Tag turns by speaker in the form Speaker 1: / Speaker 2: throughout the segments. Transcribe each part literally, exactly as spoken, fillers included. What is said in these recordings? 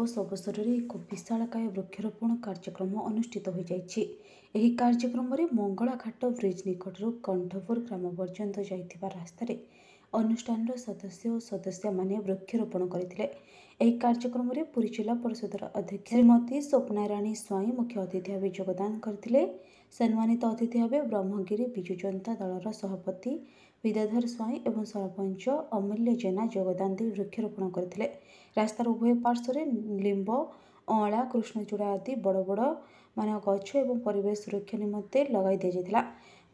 Speaker 1: ଦିବସ ଅବସରରେ ଏକ ବିଶାଳକାୟ ବୃକ୍ଷରୋପଣ କାର୍ଯ୍ୟକ୍ରମ ଅନୁଷ୍ଠିତ ହୋଇଯାଇଛି। ଏହି କାର୍ଯ୍ୟକ୍ରମରେ ମଙ୍ଗଳାଘାଟ ବ୍ରିଜ୍ ନିକଟରୁ କଣ୍ଠପୁର ଗ୍ରାମ ପର୍ଯ୍ୟନ୍ତ ଯାଇଥିବା ରାସ୍ତାରେ ଅନୁଷ୍ଠାନର ସଦସ୍ୟ ଓ ସଦସ୍ୟାମାନେ ବୃକ୍ଷରୋପଣ କରିଥିଲେ। ଏହି କାର୍ଯ୍ୟକ୍ରମରେ ପୁରୀ ଜିଲ୍ଲା ପରିଷଦର ଅଧ୍ୟକ୍ଷା ଶ୍ରୀମତୀ ସ୍ୱପ୍ନାରାଣୀ ସ୍ୱାଇଁ ମୁଖ୍ୟ ଅତିଥି ଭାବେ ଯୋଗଦାନ କରିଥିଲେ। ସମ୍ମାନିତ ଅତିଥି ଭାବେ ବ୍ରହ୍ମଗିରି ବିଜୁ ଜନତା ଦଳର ସଭାପତି ବିଦ୍ୟାଧର ସ୍ୱାଇଁ ଏବଂ ସରପଞ୍ଚ ଅମୂଲ୍ୟ ଜେନା ଯୋଗଦାନ ଦେଇ ବୃକ୍ଷରୋପଣ କରିଥିଲେ। ରାସ୍ତାର ଉଭୟ ପାର୍ଶ୍ୱରେ ଲିମ୍ବ, ଅଁଳା, କୃଷ୍ଣଚୂଡ଼ା ଆଦି ବଡ଼ ବଡ଼ ମାନ ଗଛ ଏବଂ ପରିବେଶ ସୁରକ୍ଷା ନିମନ୍ତେ ଲଗାଇ ଦିଆଯାଇଥିଲା।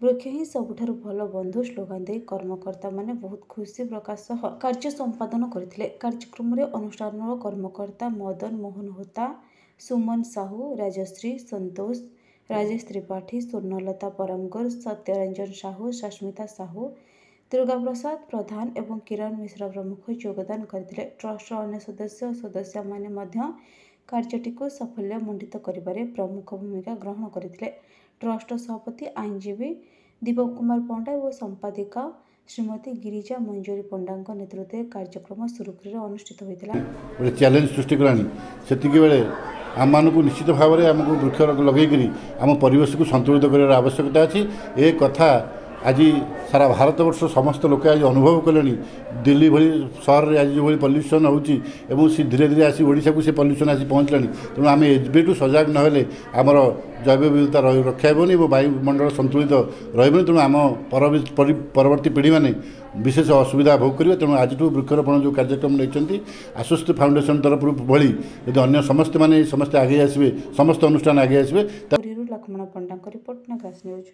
Speaker 1: ବୃକ୍ଷ ହିଁ ସବୁଠାରୁ ଭଲ ବନ୍ଧୁ ସ୍ଲୋଗାନ ଦେଇ କର୍ମକର୍ତ୍ତାମାନେ ବହୁତ ଖୁସି ପ୍ରକାଶ ସହ କାର୍ଯ୍ୟ ସମ୍ପାଦନ କରିଥିଲେ। କାର୍ଯ୍ୟକ୍ରମରେ ଅନୁଷ୍ଠାନର କର୍ମକର୍ତ୍ତା ମଦନ ମୋହନ ହୋତା, ସୁମନ ସାହୁ, ରାଜଶ୍ରୀ ସନ୍ତୋଷ, ରାଜେଶ ତ୍ରିପାଠୀ, ସ୍ୱର୍ଣ୍ଣଲତା ପରମଗୁର, ସତ୍ୟରଞ୍ଜନ ସାହୁ, ସସ୍ମିତା ସାହୁ, ଦୁର୍ଗାପ୍ରସାଦ ପ୍ରଧାନ ଏବଂ କିରଣ ମିଶ୍ର ପ୍ରମୁଖ ଯୋଗଦାନ କରିଥିଲେ। ଟ୍ରଷ୍ଟର ଅନ୍ୟ ସଦସ୍ୟ ଓ ସଦସ୍ୟାମାନେ ମଧ୍ୟ କାର୍ଯ୍ୟଟିକୁ ସାଫଲ୍ୟ ମଣ୍ଡିତ କରିବାରେ ପ୍ରମୁଖ ଭୂମିକା ଗ୍ରହଣ କରିଥିଲେ। ଟ୍ରଷ୍ଟର ସଭାପତି ଆଇନଜୀବୀ ଦୀପକ କୁମାର ପଣ୍ଡା ଏବଂ ସମ୍ପାଦିକା ଶ୍ରୀମତୀ ଗିରିଜା ମଞ୍ଜୁରୀ ପଣ୍ଡାଙ୍କ ନେତୃତ୍ୱରେ କାର୍ଯ୍ୟକ୍ରମ ସୁରୁଖୁରୁରେ ଅନୁଷ୍ଠିତ ହୋଇଥିଲା।
Speaker 2: ଗୋଟେ ଚ୍ୟାଲେଞ୍ଜ ସୃଷ୍ଟି କଲାଣି, ସେତିକି ବେଳେ ଆମମାନଙ୍କୁ ନିଶ୍ଚିତ ଭାବରେ ଆମକୁ ବୃକ୍ଷ ଲଗେଇକରି ଆମ ପରିବେଶକୁ ସନ୍ତୁଳିତ କରିବାର ଆବଶ୍ୟକତା ଅଛି। ଏ କଥା ଆଜି ସାରା ଭାରତବର୍ଷ ସମସ୍ତ ଲୋକେ ଆଜି ଅନୁଭବ କଲେଣି। ଦିଲ୍ଲୀ ଭଳି ସହରରେ ଆଜି ଯେଉଁଭଳି ପଲ୍ୟୁସନ୍ ହେଉଛି ଏବଂ ସେ ଧୀରେ ଧୀରେ ଆସି ଓଡ଼ିଶାକୁ ସେ ପଲ୍ୟୁସନ୍ ଆସି ପହଞ୍ଚିଲାଣି। ତେଣୁ ଆମେ ଏବେଠୁ ସଜାଗ ନହେଲେ ଆମର ଜୈବ ବିବିଧତା ରକ୍ଷା ହେବନି ଏବଂ ବାୟୁମଣ୍ଡଳ ସନ୍ତୁଳିତ ରହିବନି। ତେଣୁ ଆମ ପରବର୍ତ୍ତୀ ପିଢ଼ିମାନେ ବିଶେଷ ଅସୁବିଧା ଭୋଗ କରିବେ। ତେଣୁ ଆଜିଠୁ ବୃକ୍ଷରୋପଣ ଯେଉଁ କାର୍ଯ୍ୟକ୍ରମ ନେଇଛନ୍ତି ଆଶ୍ୱସ୍ତି ଫାଉଣ୍ଡେସନ୍ ତରଫରୁ ଭଳି ଯଦି ଅନ୍ୟ ସମସ୍ତେ ମାନେ ସମସ୍ତେ ଆଗେଇ ଆସିବେ, ସମସ୍ତ ଅନୁଷ୍ଠାନ ଆଗେଇ ଆସିବେ।
Speaker 1: ପୁରୀରୁ ଲକ୍ଷ୍ମଣ ପଣ୍ଡାଙ୍କ ରିପୋର୍ଟ, ନାଗାସ୍ ନ୍ୟୁଜ୍।